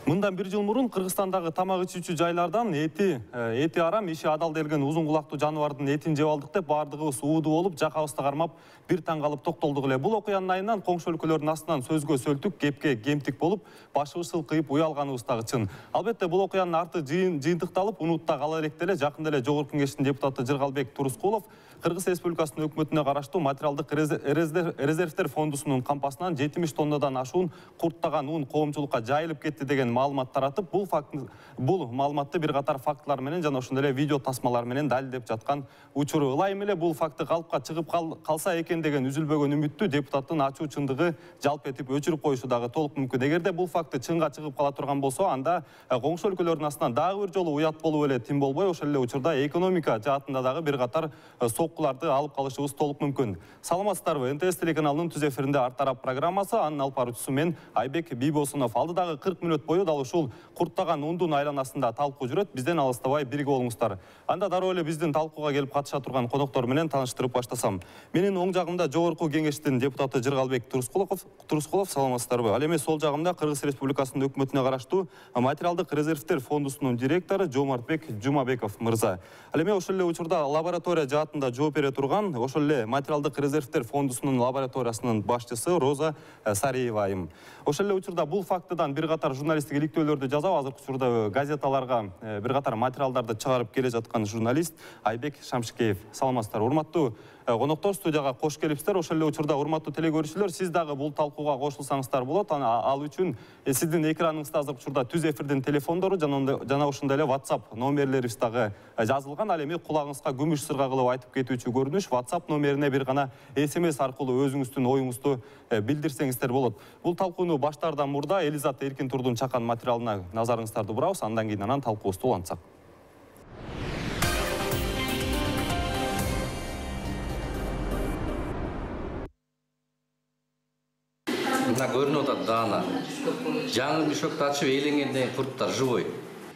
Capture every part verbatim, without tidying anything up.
Мындан бир жыл мурун Кыргызстандагы тамак ичүүчү жайлардан эти эти арам, иши адал делген узун кулактуу жаныбардын этин жеп алдык деп бардыгыбыз ууду болуп, жакабызды кармап бир таң калып токтолдук эле. Бул окуянын айынан коңшу өлкөлөрдүн астынан сөзгө сөлтүк, кепке кемтик болуп, башыбыз сылкыйып уялганыбыз дагы чын. Албетте бул окуянын арты жыйынтыкталып, унутта кала электе эле жакында эле Жогорку Кеңештин депутаты Жыргалбек Турускулов Кыргыз Республикасынын өкмөтүнө караштуу материалдык резервдер фондусунун кампасынан жетимиш тоннадан ашуун курттаган ун коомчулукка жайылып кетти деген маалымат таратып, бул факт бул маалыматты бир катар фактылар менен жана ошондой эле видео тасмалар менен далилдеп жаткан учуру. Ылайым эле бул факты калыпка чыгып калса экен деген үзүлбөгөн үмүттү депутаттын ачуу чындыгы жалп этип өчүрүп коюшу дагы толук мүмкүн. Эгерде бул факты чынга чыгып кала турган болсо, анда коңшу өлкөлөрдүн астынан дагы бир жолу уят болуп эле тим болбой, ошол эле учурда экономика жаатында дагы бир катар соккуларды алып калышыбыз толук мүмкүн. Саламатсыздарбы? эн тэ эс телеканалынын түз эфиринде Ар тарап программасы, анын алып баруучусу мен Айбек Бийбосунов. Алдыдагы кырк мүнөт бою дал ушул курттаган ундун айланасында талкуу жүрөт. Бизден алыстабай бирге болуңуздар. Анда дароо эле биздин талкууга келип катыша турган коноктор менен тааныштырып баштасам. Менин оң жагымда Жогорку Кеңештин депутаты Жыргалбек Турускулов. Турускулов, саламатсыздарбы? Ал эми сол жагымда Кыргыз Республикасынын өкмөтүнө караштуу материалдык резервдер фондусунун директору Жомартбек Жумабеков мырза. Ал эми ошол эле учурда лаборатория жаатында жооп бере турган, ошол эле материалдык резервдер фондусунун лабораториясынын башчысы Роза Сариева айым. Ошол эле учурда бул фактыдан бир катар журналисттик иликтөөлөрдү жазап, азыркы учурда газеталарга бир катар материалдарды чыгарып келе жаткан журналист Айбек Шамшикеев. Саламатсыздар, урматтуу коноктор, студияга кош келипсиздер. Ошол эле учурда урматтуу телекөрүүчүлөр, сиз дагы бул талкууга кошулсаңыздар болот. Ал үчүн сиздин экраныңызда азыркы учурда түз эфирдин телефондору жана ошондой эле WhatsApp номерлерибиз дагы жазылган. Ал эми кулагыңызга күмүш сырга кылып айтып кетүүчү көрүнүш WhatsApp номерине бир гана эс эм эс аркылуу өзүңүздүн оюңузду билдирсеңиздер болот. Бул талкууну баштаардан мурда Элизат Эркин Турдун чакан материалына назарыңыздарды бурабыз, андан кийин анан талкуубузду улантсак. Мына көрүнүп атат даана. Жаңы мешокты ачып ээленгенден курттар живой.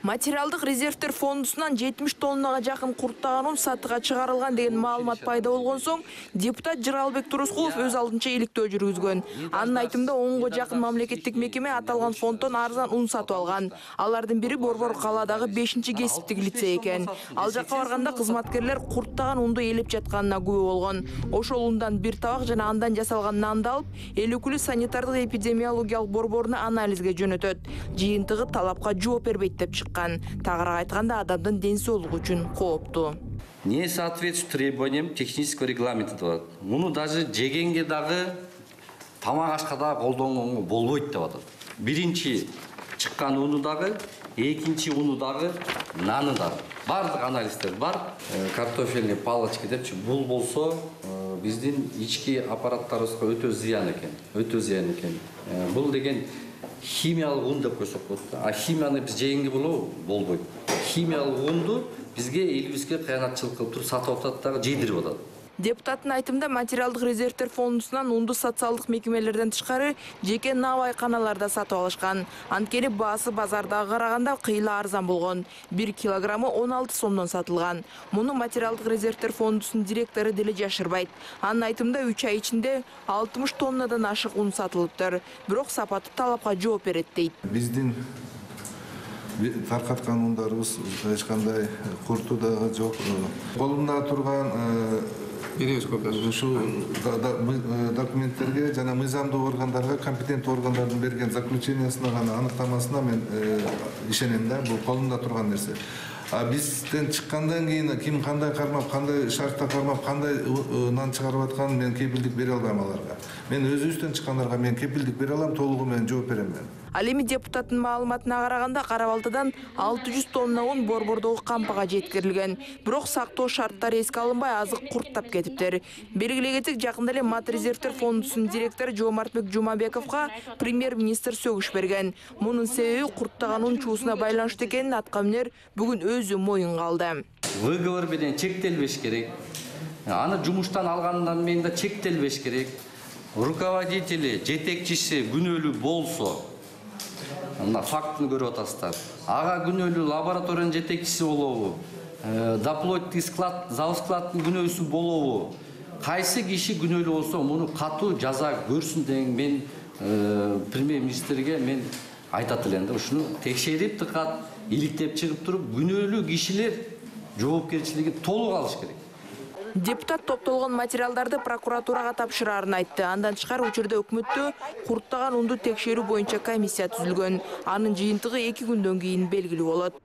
Материалдык резервдер фондусунан жетимиш тоннага жакын курттаган ун сатыга чыгарылган деген маалымат пайда болгон соң, депутат Жыргалбек Турускулов өз алдынча иликтөө жүргүзгөн. Анын айтымында онго жакын мамлекеттик мекеме аталган фонддон арзан ун сатып алган. Алардын бири Борбор калаадагы бешинчи кесиптик лицей экен. Ал жакка барганда кызматкерлер курттаган унду ээлеп жатканына күбө болгон. Ошол ундан бир табак жана андан жасалган нанды алып, эл өкүлү санитардык эпидемиологиялык борборуна анализге жөнөтөт. Жыйынтыгы талапка жооп бербейт деп чыккан. Тагыраак айтканда, адамдын ден соолугу үчүн кооптуу. Не соответствует требованиям технического регламента. Муну даже жегенге дагы, тамак ашка дагы колдонгонго болбойт деп атат. Биринчи чыккан уну дагы, экинчи уну дагы, наны дагы. Бардык анализдер бар. Картофельный палочка депчи, бул болсо биздин ички аппараттарыбызга өтө зыян экен. Өтө зыян экен. Бул деген химиялык ун деп койсок болот. А химияны биз жегенге болобу? Болбойт. Химиялык унду бизге элибизге кыянатчылык кылып туруп сатып атат дагы жейдирип атат. Депутаттын айтымында материалдык резервдер фондусунан унду социалдык мекемелерден тышкары жеке навайканаларда сатып алышкан. Анткени баасы базардагы караганда кыйла арзан болгон. бир килограммы он алты сомдон сатылган. Муну материалдык резервдер фондусунун директору деле жашырбайт. Анын айтымында үч ай ичинде алтымыш тоннадан ашык ун сатылыптыр. Бирок сапаты талапка жооп берет дейт. Биздин таркаткан ундарыбыз эч кандай курту дагы жок. Колумда турган ушул документтерге жана мыйзамдуу органдарга, компетенттүү органдардын берген заключениясына гана, аныктамасына мен ишенем да, бул колумда турган нерсе. А бизден чыккандан кийин ким кандай кармап, кандай шартта кармап, кандай нан чыгарып атканын мен кепилдик бере албайм аларга. Мен өзүбүздөн чыккандарга мен кепилдик бере алам, толугу менен жооп берем мен. Ал эми депутаттын маалыматына караганда, Кара-Балтадан алты жүз тонна ун Борбордогу кампага жеткирилген. Бирок сактоо шарттары эске алынбай, азык курттап кетиптир. Белгилей кетик, жакында эле Мат резервдер фондусунун директору Жомартбек Жумабековго премьер-министр сөгүш берген. Мунун себеби курттаган ун чуусуна байланыштуу экенин аткаминер бүгүн өзү моюнга алды. Выговор менен чектелбеш керек. Аны жумуштан алгандан кийин да чектелбеш керек. Руководители, жетекчиси күнөөлүү болсо, мына фактыны көрүп атасыздар. Ага күнөөлүү лабораториянын жетекчиси болобу? Доплоттик склад, завскладтын күнөөсү болобу? Кайсы киши күнөөлүү болсо, муну катуу жаза көрсүн деген мен премьер-министрге мен айтат элем да, ушуну текшерип тыкат, иликтеп чыгып туруп, күнөөлүү кишилер жоопкерчилиги толук алыш керек. Депутат топтолгон материалдарды прокуратурага тапшырарын айтты. Андан тышкары учурда өкмөттө курттаган унду текшерүү боюнча комиссия түзүлгөн. Анын жыйынтыгы эки күндөн кийин белгилүү болот.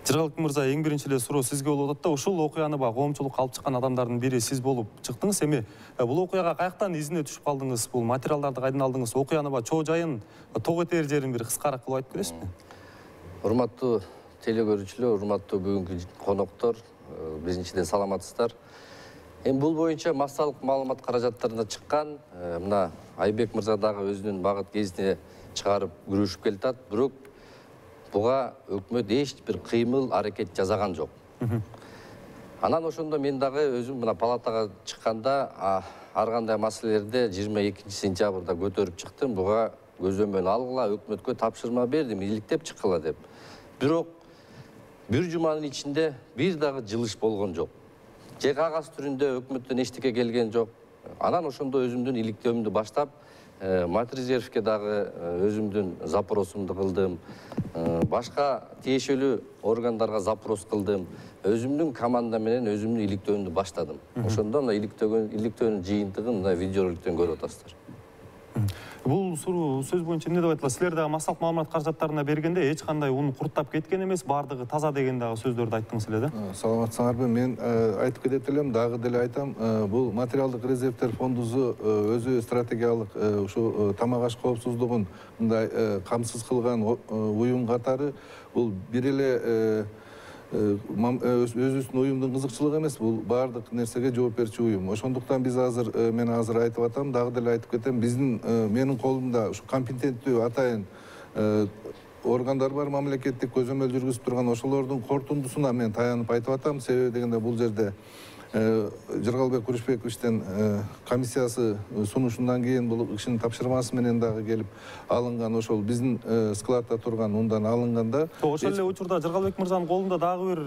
Жыргалбек мырза, эң биринчи эле суроо сизге болуп атат да, ушул окуяны ба коомчулукка алып чыккан адамдардын бири сиз болуп чыктыңыз. Эми бул окуяга каяктан изине түшүп калдыңыз? Бул материалдарды кайдан алдыңыз? Окуяны ба чоо жайын, ток этер жерин бир кыскараак кылып айтып бересизби? Урматтуу телекөрүүчүлөр, урматтуу бүгүнкү коноктор, биринчиден саламатсыздар. Эми бул боюнча массалык маалымат каражаттарына чыккан, мына Айбек мырза дагы өзүнүн багыт кезине чыгарып күрөшүп келатат, бирок буга өкмөт эч бир кыймыл, аракет жасаган жок. Анан ошондо мен дагы өзүм мына палатага чыкканда ар кандай маселелерди жыйырма экинчи сентябрда көтөрүп чыктым. Буга көзөмөл алгыла, өкмөткө тапшырма бердим, иликтеп чыккыла деп. Бирок бир жуманын ичинде бир дагы жылыш болгон жок. Же кагаз түрүндө өкмөттөн эчтеке келген жок. Анан ошондо өзүмдүн иликтөөмдү баштап, Матрезервке дагы өзүмдүн запросумду кылдым. Башка тиешелүү органдарга запрос кылдым. Өзүмдүн команда менен өзүмдүн иликтөөмдү баштадым. Ошондо мына иликтөөнүн жыйынтыгын мына видеороликтен көрүп атасыздар. Бул суроо сөз боюнча эмне деп айтылат? Силер дагы массалык маалымат каражаттарына бергенде эч кандай ун курттап кеткен эмес, бардыгы таза деген дагы сөздөрдү айттыңыз эле да? Саламатсыңарбы? Мен айтып кетет элем, дагы деле айтам. Бул материалдык резервдер фондусу өзү стратегиялык ушу тамак аш коопсуздугун мындай камсыз кылган уюм катары, бул бир эле өзүбүздүн уюмдун кызыкчылыгы эмес, бул баардык нерсеге жооп берчү уюм. Ошондуктан биз азыр, мен азыр айтып атам, дагы деле айтып кетем, биздин менин колумда ушу компетенттүү атайын органдар бар, мамлекеттик көзөмөл жүргүзүп турган, ошолордун кортундусуна мен таянып айтып атам. Себеби дегенде бул жерде Жыргалбек Күрүшбековичтен комиссиясы сунушундан кийин бул кишинин тапшырмасы менен дагы келип алынган, ошол биздин складта турган ундан алынганда. Ошол эле учурда Жыргалбек мырзанын колунда дагы бир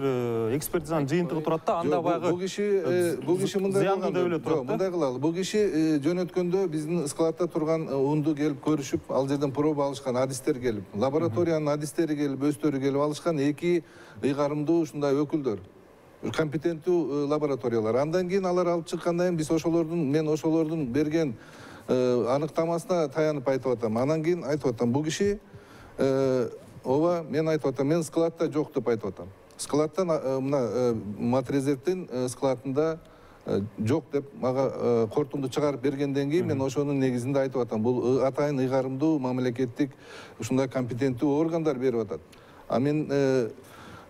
экспертизанын жыйынтыгы турат да, анда баягы бул киши бул киши мындай зыяндуу деп эле турат да. Мындай кылалы. Бул киши жөнөткөндө биздин складта турган унду келип көрүшүп, ал жерден проба алышкан, адистер келип, лабораториянын адистери келип, өздөрү келип алышкан эки ыйгарымдуу ушундай өкүлдөр. Компетенттүү лабораториялар. Андан кийин алар алып чыккандан кийин биз ошолордун, мен ошолордун берген аныктамасына таянып айтып атам. Анан кийин айтып атам, бул киши ооба, мен айтып атам, мен складта жок деп айтып атам. Складтан мына Матрезервдин складында жок деп мага кортунду чыгарып бергенден кийин мен ошонун негизинде айтып атам. Бул атайын ыйгарымдуу мамлекеттик ушундай компетенттүү органдар берип атат. А мен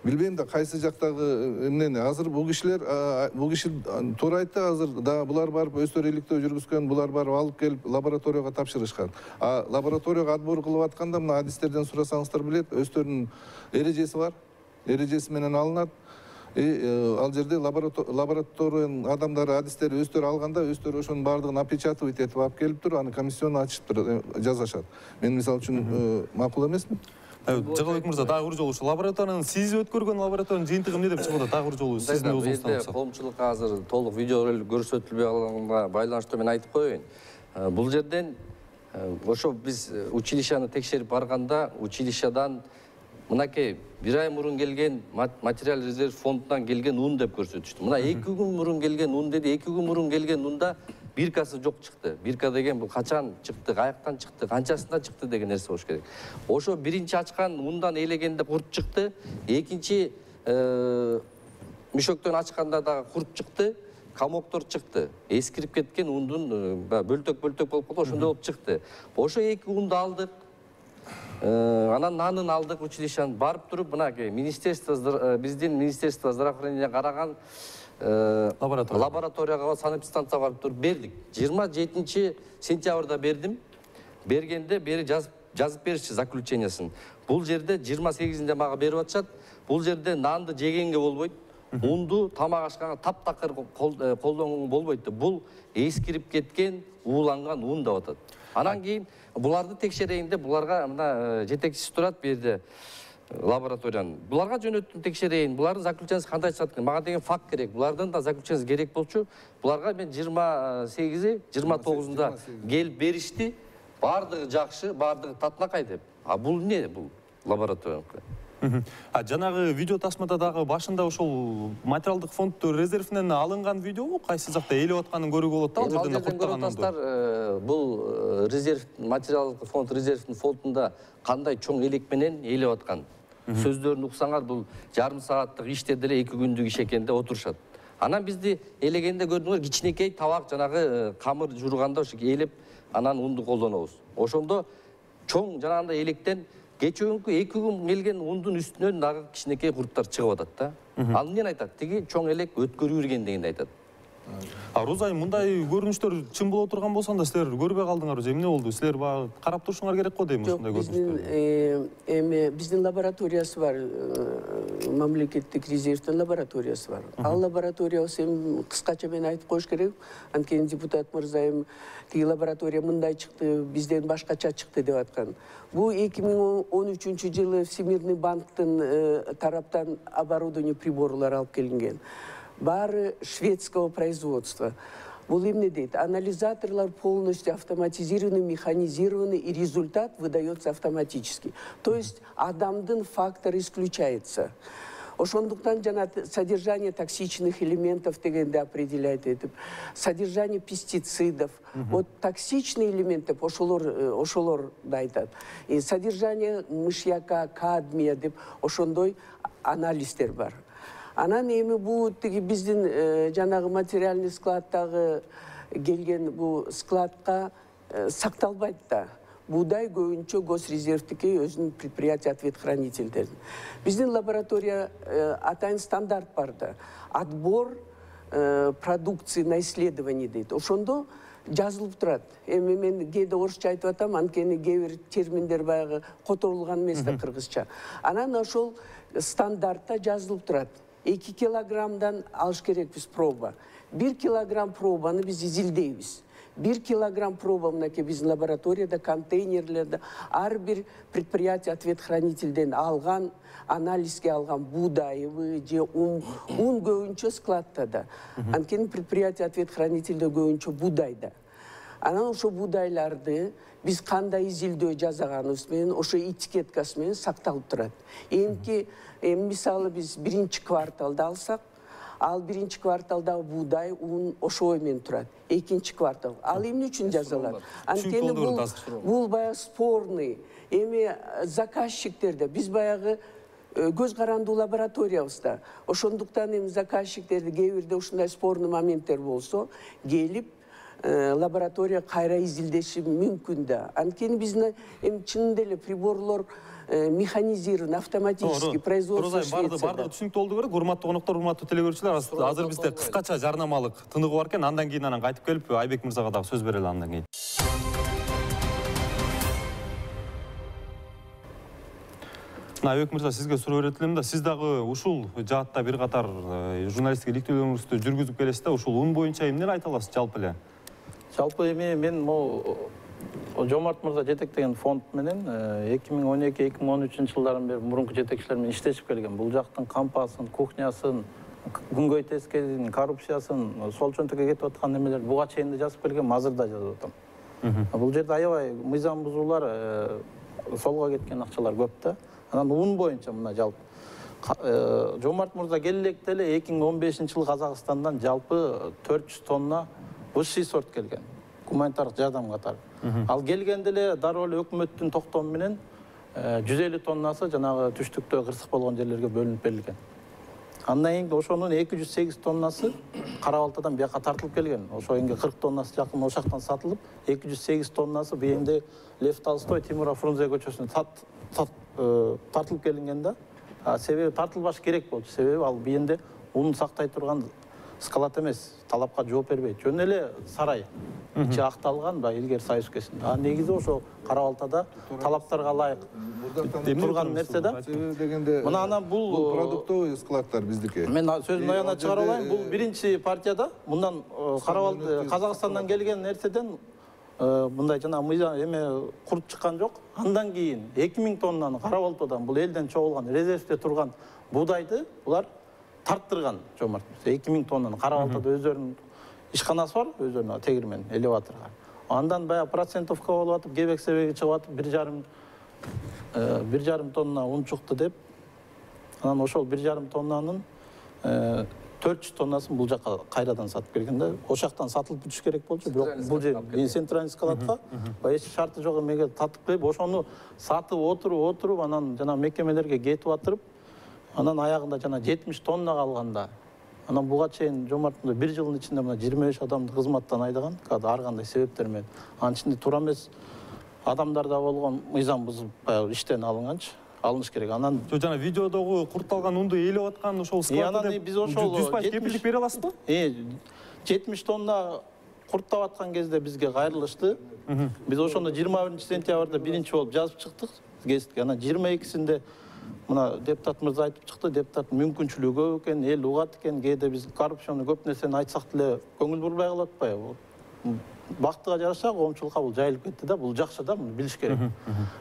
билбейм да кайсы жактагы эмнени. Азыр бул кишилер, бул киши туура айтты, азыр да булар барып өздөрү иликтөө жүргүзгөн, булар барып алып келип лабораторияга тапшырышкан. А лабораторияга отбор кылып атканда мына адистерден сурасаңыздар билет, өздөрүнүн эрежеси бар. Эрежеси менен алынат. Ал жерде лабораториянын адамдары, адистери өздөрү алганда, өздөрү ошонун баардыгын опечатывать этип алып келиптир, аны комиссионно ачыптыр, жазышат. Мен мисалы үчүн макул эмесмин. Жыргалбек мырза, дагы бир жолу ушу лабораториянын сиз өткөргөн лабораториянын жыйынтыгы эмне деп чыгып атат? Дагы бир жолу сиздин өзүңүздөн. Коомчулукка азыр толук видео көрсөтүлбөй калганга байланыштуу мен айтып коеюн. Бул жерден ошо биз училищаны текшерип барганда, училищадан мынакей бир ай мурун келген материал резерв фондунан келген ун деп көрсөтүштү. Мына эки күн мурун келген ун деди, эки күн мурун келген унда биркасы жок чыкты. Бирка деген бул качан чыкты, каяктан чыкты, канчасында чыкты деген нерсе болуш керек. Ошо биринчи ачкан ундан элегенде курт чыкты, экинчи мешоктон ачканда дагы курт чыкты, комоктор чыкты. Эскирип кеткен ундун бөлтөк-бөлтөк болуп калды, ошондой болуп чыкты. Ошо эки унду алдык. Анан нанын алдык училищаны барып туруп, мынакей министерство, биздин министерство здравоохранения караган лабораторияга, санэпидстанцияга барып туруп бердик. жыйырма жетинчи сентябрда бердим. Бергенде бери жазып беришти заключениясын. Бул жерде жыйырма сегизинде мага берип атышат. Бул жерде нанды жегенге болбойт. Унду тамак ашканга таптакыр колдонгонго болбойт. Бул эскирип кеткен, ууланган ун деп атат. Анан кийин буларды текшерейин деп буларга мына жетекчиси турат бу жерде. лабораторияны. Буларга жөнөттүм текшерейин. Булардын заключениясы кандай чыгат экен? Мага деген факт керек. Булардын да заключениясы керек болчу. Буларга мен жыйырма сегизи, жыйырма тогузунда келип беришти. Бардыгы жакшы, бардыгы татынакай деп. А бул эмне бул лабораторияныкы? А жанагы видео тасмада дагы башында ошол материалдык фонд резервинен алынган видеобу кайсы жакта элеп атканын көрүүгө болот да, ал жерден курттаган атасыздар. Бул резерв материалдык фонд резервдин фондунда кандай чоң элек менен элеп аткан. Сөздөрүн уксаңар, бул жарым сааттык иште деле эки күндүк иш экен деп отурушат. Анан бизди элегенде көрдүңөр, кичинекей табак жанагы камыр журганда ошо элеп анан унду колдонобуз. Ошондо чоң жанагындай электен кечүүнкү эки күн келген ундун үстүнөн дагы кичинекей курттар чыгып атат да. Ал эмнени айтат? Тиги чоң элек өткөрүп ирген дегенди айтат. А Розай, мындай көрүнүштөр чын боло турган болсо да силер көрбөй калдыңар же эмне болду? Силер баягы карап турушуңар керек го дейм ушундай көрүнүштөрдү. Эми биздин лабораториясы бар, мамлекеттик резервдин лабораториясы бар. Ал лабораториясы эми кыскача мен айтып коюш керек. Анткени депутат мырза эми тиги лаборатория мындай чыкты, бизден башкача чыкты деп аткан. Бул эки миң он үчүнчү жылы Всемирный банктын тараптан оборудование приборлар алып келинген. Бары шведского производства. Бул эмне дейт? Анализаторлар полностью автоматизированы, механизированы, и результат выдается автоматически. То есть адамдын фактор исключается. Ошондуктан жана содержание токсичных элементов дегенде определяет этип, содержание пестицидов. Вот токсичные элементы ошолор ошолор да айтат. И содержание мышьяка, кадмия деп ошондой анализдер бар. Анан эми бул тиги биздин жанагы материальный складдагы келген бул складка сакталбайт да. Буудай көбүнчө госрезервдики өзүнүн предприятие ответ-хранительдерин. Биздин лаборатория атайын стандарт бар да. Отбор продукции на исследование дейт. Ошондо жазылып турат. Эми мен кээде орусча айтып атам, анткени кээ бир терминдер баягы которулган эмес да кыргызча. Анан ошол стандартта жазылып турат. эки килограммдан алыш керекпиз проба. бир килограмм пробаны биз изилдейбиз. бир килограмм проба мынакей биздин лабораторияда, контейнерлерде, ар бир предприятие ответ-хранительден алган, анализге алган буудайыбы же ун, ун көбүнчө складта да. Анткени предприятие ответ-хранительде көбүнчө буудайда. Анан ошо буудайларды биз кандай изилдөө жасаганыбыз менен ошо этикеткасы менен сакталып турат. Эмки эми мисалы биз биринчи кварталда алсак, ал биринчи кварталдагы буудай ун ошой менен турат. Экинчи квартал. Ал эмне үчүн жазалат? Анткени бул бул баягы спорный. Эми заказчиктерде биз баягы көз карандуу лабораториябызда. Ошондуктан эми заказчиктерди кээ бирде ушундай спорный моменттер болсо, келип лаборатория кайра изилдеши мүмкүн да. Анткени биздин эми чынында эле приборлор механизирован, автоматически производство Швецияда. Бардыгы түшүнүктүү болду керек. Урматтуу коноктор, урматтуу телекөрүүчүлөр, азыр бизде кыскача жарнамалык тыныгы бар экен. Андан кийин анан кайтып келип Айбек мырзага дагы сөз берели андан кийин. Айбек мырза, сизге суроо берет элем да, сиз дагы ушул жаатта бир катар журналисттик иликтөөлөрүңүздү жүргүзүп келесиз да, ушул ун боюнча эмнени айта аласыз жалпы эле? Жалпы эми мен могу Жомарт мырза жетектеген фонд менен эки миң он эки — эки миң он үчүнчү жылдардан бери мурунку жетекчилер менен иштешип келген. Бул жактын кампасын, кухнясын, күнгөй тескерин, коррупциясын, сол чөнтөккө кетип аткан немелер буга чейин да жазып келгем, азыр да жазып атам. Бул жерде аябай мыйзам бузуулар, солго кеткен акчалар көп да. Анан ун боюнча мына жалпы Жомарт мырза келек деле эки миң он бешинчи жылы Казакстандан жалпы төрт жүз тонна высший сорт келген. Гуманитардык жардам катары. Ал келгенде эле дароо эле өкмөттүн токтому менен жүз элүү тоннасы жанагы түштүктө кырсык болгон жерлерге бөлүнүп берилген. Андан кийин ошонун эки жүз сегиз тоннасы Кара Балтадан бияка тартылып келген. Ошо кийинге кырк тоннасы жакын ошол жактан сатылып, эки жүз сегиз тоннасы бийинде Лев Толстой, Тимура Фрунзе көчөсүнө тартылып келинген да. Себеби тартылбаш керек болчу. Себеби ал бийинде унун сактай турган склад эмес, талапка жооп бербейт. Жөн эле сарай. Ичи акталган ба илгери союз өлкөсүндө. А негизи ошо Кара Балтада талаптарга ылайык турган нерсе да. Мына анан бул продуктовый складдар биздики. Мен сөзүмдү аягына чыгарып алайын. Бул биринчи партияда мындан Кара Балта Казакстандан келген нерседен мындай жана мыйзам эме курт чыккан жок. Андан кийин эки миң тоннаны кара болтодон бул элден чогулган резервде турган буудайды булар тарттырган Жомарт Мырза. эки миң тоннаны кара болтодо өздөрүнүн ишканасы бар, өздөрүнүн тегирмен, элеваторго. Андан баягы процентовка болуп атып, кебек себеги чыгып атып, бир жарым бир жарым тонна ун чыкты деп. Анан ошол бир жарым тоннанын төрт жүз тоннасын бул жака кайрадан сатып берген да. Ошактан сатылып бүтүш керек болчу, бирок бул жер центральный складка эч шарты жок эмеге татып коюп, ошону сатып отуруп, отуруп, анан жана мекемелерге кетип атырып, анан аягында жана жетимиш тонна калганда, анан буга чейин Жомарт Мырза бир жылдын ичинде мына жыйырма беш адамды кызматтан айдаган, ар кандай себептер менен. Анын ичинде туура эмес адамдар да болгон, мыйзам бузуп баягы иштен алынганчы. Алыныш керек. Анан жана видеодогу куртталган унду элеп аткан ошол складда биз ошол жүз пайыз кепилдик бере аласызбы? Э, жетимиш тонна курттап аткан кезде бизге кайрылышты. Биз ошондо жыйырма биринчи сентябрда биринчи болуп жазып чыктык гезитке. Анан жыйырма экисинде мына депутат мырза айтып чыкты, депутаттын мүмкүнчүлүгү көп экен, эл угат экен, кээде биз коррупцияны көп нерсени айтсак деле көңүл бурбай калып атпайбы? Бактыга жараша коомчулукка бул жайылып кетти да, бул жакшы да, муну билиш керек.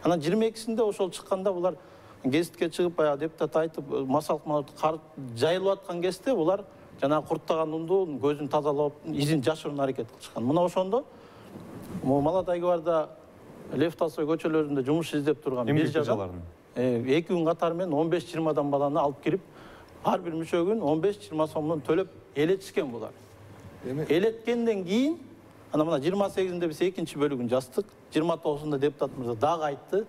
Анан жыйырма экисинде ошол чыкканда булар гезитке чыгып, баягы депутат айтып, масалык маалымат жайылып аткан кезде булар жана курттаган унду көзүн тазалап, изин жашыруун аракет кылышкан. Мына ошондо Молодой гвардия Лев Толстой көчөлөрүндө жумуш издеп турган биржалардын эки күн катары менен он беш жыйырмадан баланы алып кирип, ар бир мүчөгүн он беш жыйырма сомдон төлөп элетишкен булар. Элеткенден кийин анан мына жыйырма сегизинде биз экинчи бөлүгүн жаздык, жыйырма тогузунда депутат мырза дагы айтты.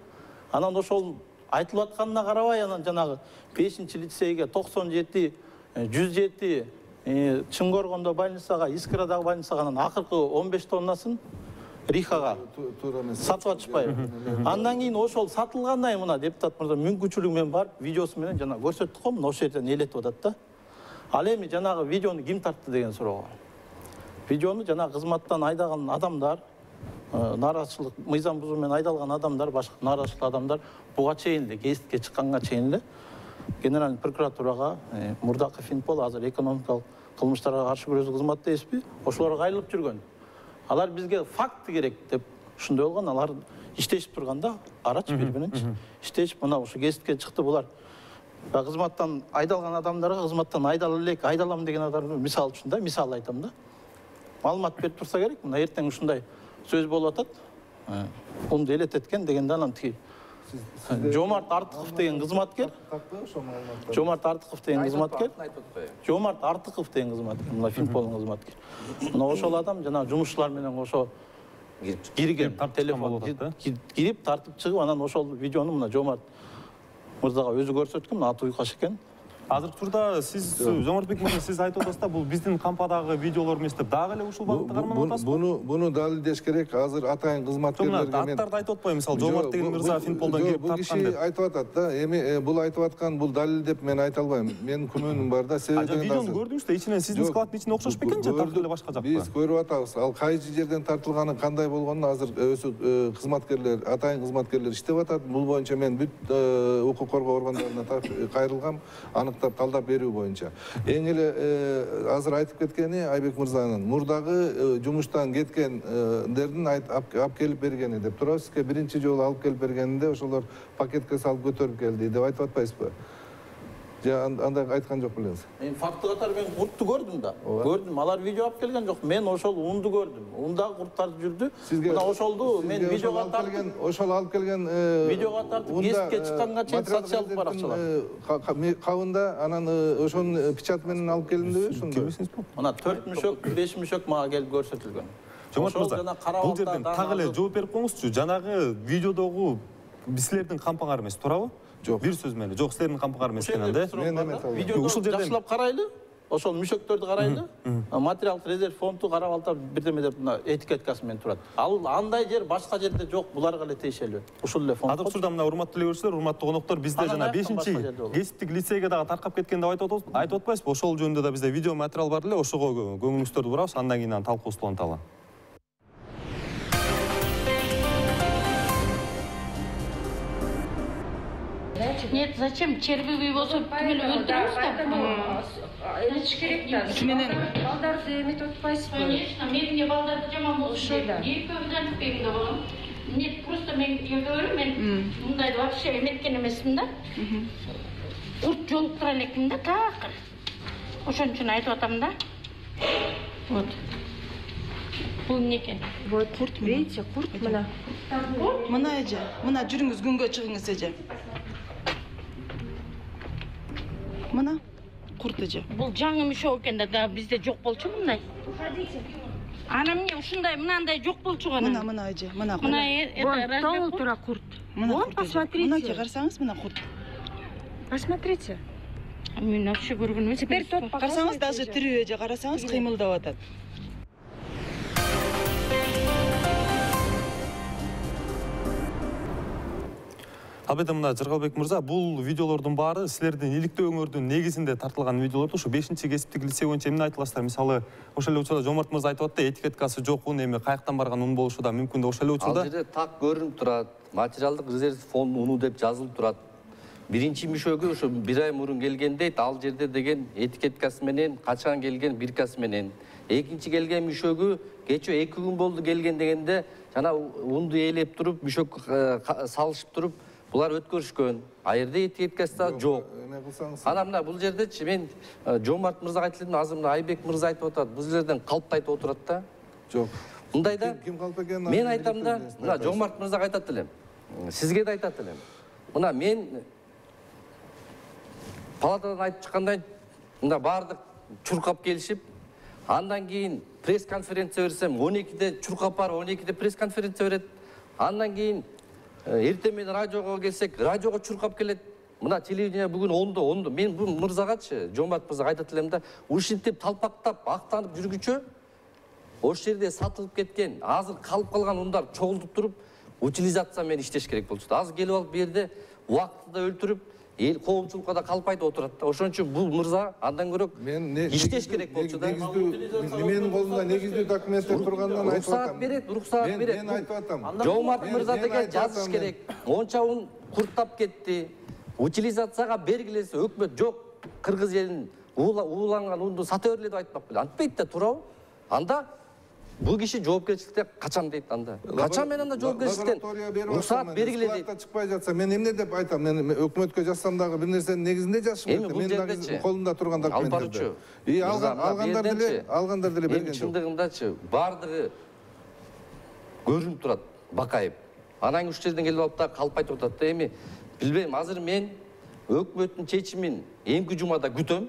Анан ошол айтылып атканына карабай, анан жанагы бешинчи лицейге токсон жети, жүз жети, Чыңгоргондо больницага, Искрадагы больницага анан акыркы он беш тоннасын Рихага сатып атышпайбы. Андан кийин ошол сатылгандан кийин мына депутат мырза мүмкүнчүлүгү менен барып, видеосу менен жана көрсөттүк го, мына ошол жерден элетип атат да. Ал эми жанагы видеону ким тартты деген суроого. Видеону жана кызматтан айдаган адамдар, нааразычылык, мыйзам бузуу менен айдалган адамдар, башка нааразычылык адамдар буга чейин эле, гезитке чыкканга чейин эле Генеральный прокуратурага, Мурдаков Финпол, азыр экономикалык кылмыштарга каршы күрөшүү кызматы эспи, ошолорго кайрылып жүргөн. Алар бизге факты керек деп ушундай болгон, алар иштешип турганда, арачы бири-биринчи иштешип, мына ушу гезитке чыкты булар. Кызматтан айдалган адамдарга кызматтан айдала элек, айдалам деген адамдар мисал үчүн да, мисал айтам да. Маалымат берип турса керек, мына эртең ушундай сөз болуп атат. Унду элетет экен дегенде анан тиги Жомарт Артыков деген кызматкер. Жомарт Артыков деген кызматкер. Жомарт Артыков деген кызматкер, мына Финполдун кызматкер. Мына ошол адам жана жумушчулар менен ошо кирген, телефон кирип тартып чыгып, анан ошол видеону мына Жомарт мырзага өзү көрсөткөн, мына аты Уйкаш экен. Азыркы турда сиз Жомартбек мырза сиз айтып атасыз да, бул биздин кампадагы видеолор эмес деп, дагы эле ушул багытта карманып атасызбы? Буну буну далилдеш керек. Азыр атайын кызматкерлерге мен аттарды айтып атпайбы, мисалы Жомарт деген мырза Финполдон келип тарткан деп. Бул киши айтып атат да, эми бул айтып аткан бул далил деп мен айта албайм. Менин күмөнүм бар да, себеби дегенде. Видеону көрдүңүз да, ичинен сиздин складдын ичинде окшош бекен же тартып эле башка жакта? Биз көрүп атабыз. Ал кайсы жерден тартылганы, кандай болгонун азыр өзү кызматкерлер, атайын кызматкерлер иштеп атат. Бул боюнча мен бүт укук коргоо органдарына кайрылгам, аныктап талдап берүү боюнча. Эң эле азыр айтып кеткени Айбек мырзанын мурдагы жумуштан кеткендердин алып келип бергени деп турабыз. Сизге биринчи жолу алып келип бергенинде ошолор пакетке салып көтөрүп келди деп айтып атпайсызбы? Же андай айткан жок белеңиз? Мен факты катары мен куртту көрдүм да. Көрдүм. Алар видео алып келген жок. Мен ошол унду көрдүм. Ундагы курттар жүрдү. Мына ошолду мен видеого тартып, ошол алып келген видеого тартып гезитке чыкканга чейин социалдык баракчалар. Кабында анан ошонун печат менен алып келдимби ошондо? Мына төрт мүшөк, беш мүшөк мага келип көрсөтүлгөн. Жомарт мырза, бул жерден так эле жооп берип коюңузчу. Жанагы видеодогу силердин кампаңар эмес, туурабы? Жок. Бир сөз менен. Жок, силердин кампаңар эмес экен да. Видеоду жакшылап карайлы. Ошол мүшөктөрдү карайлы. Материалдык резерв фонду карап алып бирдеме деп мына этикеткасы менен турат. Ал андай жер башка жерде жок, буларга эле тиешелүү. Ушул эле фонд. Азыркы учурда мына урматтуу телегөрүүчүлөр, урматтуу коноктор, бизде жана бешинчи гезиттик лицейге дагы таркап кеткен деп айтып атпайсызбы? Ошол жөнүндө да бизде видео материал бар эле, ошого көңүлүңүздөрдү бурабыз, андан кийин анан талкуубузду уланталы. Нет, зачем? Червивый болсо түгел өлтүрөбүз да. Элич керек да. Менен Балдарды эметип атпайсызбы? Конечно, мен эмне балдарды жаман болуш керек. Экөөбүз антпайбыз да балам. Нет, просто мен эгөө мен мындайды вообще эметкен эмесмин да. Курт жолуктура элекмин да, такыр. Ошон үчүн айтып атам да. Вот. Бул эмне экен? Вот курт, видите, курт мына. Мына эже, мына жүрүңүз күнгө чыгыңыз эже. Мына курт эже. Бул жаңы мишок экен да, бизде жок болчу мындай. Ана эмне ушундай мынандай жок болчу гана. Мына мына эже, мына. Мына это Толы тура курт. Вот, посмотрите. Мынакей карасаңыз, мына курт. Посмотрите. Мен вообще көргөнүм эмес. Теперь тот Карасаңыз, даже тирүү эже карасаңыз кыймылдап атат. Албетте мына Жыргалбек мырза, бул видеолордун баары силердин иликтөөңөрдүн негизинде тартылган видеолорду ушу бешинчи кесиптик лицей боюнча эмне айтыласыздар? Мисалы, ошол эле учурда Жомарт мырза айтып атты, этикеткасы жок ун, эми каяктан барган ун болушу да мүмкүн да ошол эле учурда. Ал жерде так көрүнүп турат. Материалдык резерв фонд уну деп жазылып турат. Биринчи мишөгү ошо бир ай мурун келген дейт, ал жерде деген этикеткасы менен, качан келген биркасы менен. Экинчи келген мишөгү кече эки күн болду келген дегенде, жана унду ээлеп туруп, мишөк салышып туруп, булар өткөрүшкөн. А жерде этикеткасы да жок. Ана мына бул жердечи мен Жомарт мырзага айтып элем, азыр мына Айбек мырза айтып атат, бул жерден калп айтып отурат да. Жок. Мындайда Ким калп экен? мен айтам да, мына Жомарт мырзага айтат элем. Сизге да айтат элем. Мына мен палатадан айтып чыккандай, мында баардык чуркап келишип, андан кийин пресс-конференция берсем, он экиде чуркап барып, он экиде пресс-конференция берет. Андан кийин эртең менен радиого келсек, радиого чуркап келет. Мына телевидение бүгүн ондо, ондо. Мен бул мырзагачы, Жомарт мырзага айтат элем да, ушинтип талпактап, актанып жүргүчө, ошол жерде сатылып кеткен, азыр калып калган ундар чогултуп туруп, утилизация менен иштеш керек болчу. Азыр келип алып бу жерде убактыда өлтүрүп, эл коомчулукка да калп айтып отурат да. Ошон үчүн бул мырза андан көрөк иштеш керек болчу да. Менин колумда негиздүү документтер тургандан айтып атам. Уруксаат берет, уруксаат берет. Мен айтып атам. Жомарт мырза деген жазыш керек. Монча ун курттап кетти. Утилизацияга бергилесе өкмөт жок. Кыргыз элин ууланган унду сата бергиле деп айтпак беле. Антпайт да, туурабы? Анда бул киши жоопкерчиликтен качам дейт анда. Качам мен анда жоопкерчиликтен уруксаат бергиле дейт. Чыкпай жатса мен эмне деп айтам? Мен өкмөткө жазсам дагы бир нерсенин негизинде жазышым керек. Мен дагы колумда турган документтерди. И алгандар деле, алгандар деле берген жок. Чындыгындачы баардыгы көрүнүп турат, Бакаев. Анан үч жерден келип алып да калп айтып атат да. Эми билбейм, азыр мен өкмөттүн чечимин эмки жумада күтөм.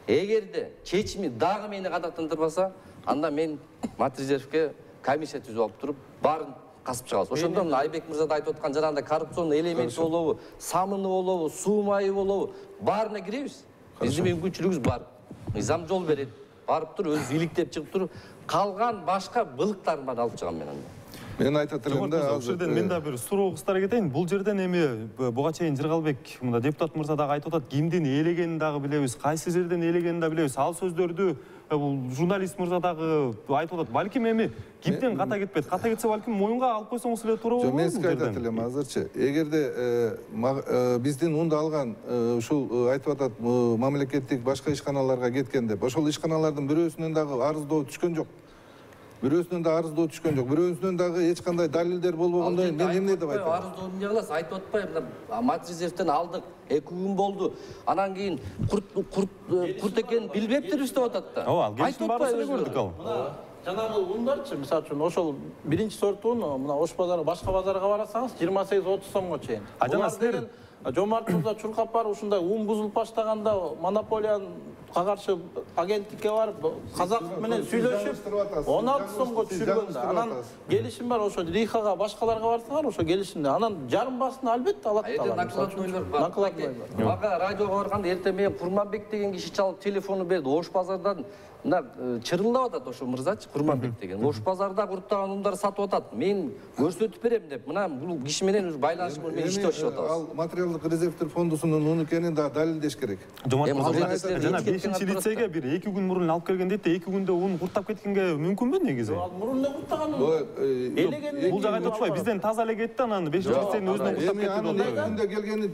Эгерде чечими дагы мени кадактандырбаса, анда мен матрезервке комиссия түзүп алып туруп, баарын касып чыгабыз. Ошондо мына Айбек мырза да айтып аткан жанагындай коррупционный элементи болобу, самыны болобу, суу майы болобу, баарына киребиз. Биздин мүмкүнчүлүгүбүз бар. Мыйзам жол берет. Барып туруп, өзү иликтеп чыгып туруп, калган башка былыктарын баарын алып чыгам мен анда. Мен айтат элем да, ошол жерден мен да бир суроо кыстара кетейин. Бул жерден эми буга чейин Жыргалбек мында депутат мырза дагы айтып атат, кимдин ээлегенин дагы билебиз, кайсы жерден ээлегенин да билебиз. Ал сөздөрдү бул журналист мырза дагы айтып атат. Балким эми кимден ката кетпейт. Ката кетсе балким моюнга алып койсоңуз эле туура болобу? Жок, мен сизге айтат элем азырчы. Эгерде биздин унду алган ушул айтып атат мамлекеттик башка ишканаларга кеткен деп, ошол ишканалардын бирөөсүнөн дагы арыздоо түшкөн жок. Бирөөсүнөн да арыздоо түшкөн жок. Бирөөсүнөн дагы эч кандай далилдер болбогондо мен эмне деп айтам? Арыздоо эмне кыласыз? Айтып атпайбы? Матрезервден алдык, эки күн болду. Анан кийин курт курт курт экенин билбептирбиз деп атат да. Ооба, ал келишим баарысын эле көрдүк ал. Жанагы ундарчы, мисалы үчүн ошол биринчи сорт ун, мына Ош базары башка базарга барасаңыз жыйырма сегиз отуз сомго чейин. А жана силер Жомарт мырза чуркап барып ушундай ун бузулуп баштаганда монополиянын каршы агенттикке барып казак менен сүйлөшүп он алты сомго түшүргөн да. Анан келишим бар, ошо Рихага башкаларга барсаңар, ошо келишимде. Анан жарым басын албетте алат да. Накладнойлор бар. Накладной бар. Мага радиого барганда эртең менен Курманбек деген киши чалып телефону берди. Ош базардан мына чырылдап атат ошо мырзачы, Курманбек деген. Ош базарда курттаган ундар сатып атат. Мен көрсөтүп берем деп, мына бул киши менен ушу байланыш менен иштеп атабыз. Ал материалдык резервдер фондусунун уну экенин да далилдеш керек. Жана бешинчи лицейге бир эки күн мурун алып келген дейт, эки күндө ун курттап кеткенге мүмкүнбү негизи? Ал мурун эле курттаган ун. Элеген. Бул жагы айтып атпайбы, бизден таза эле кетти, анан бешинчи лицейдин өзүнөн курттап кетти деп атат. Күндө келгени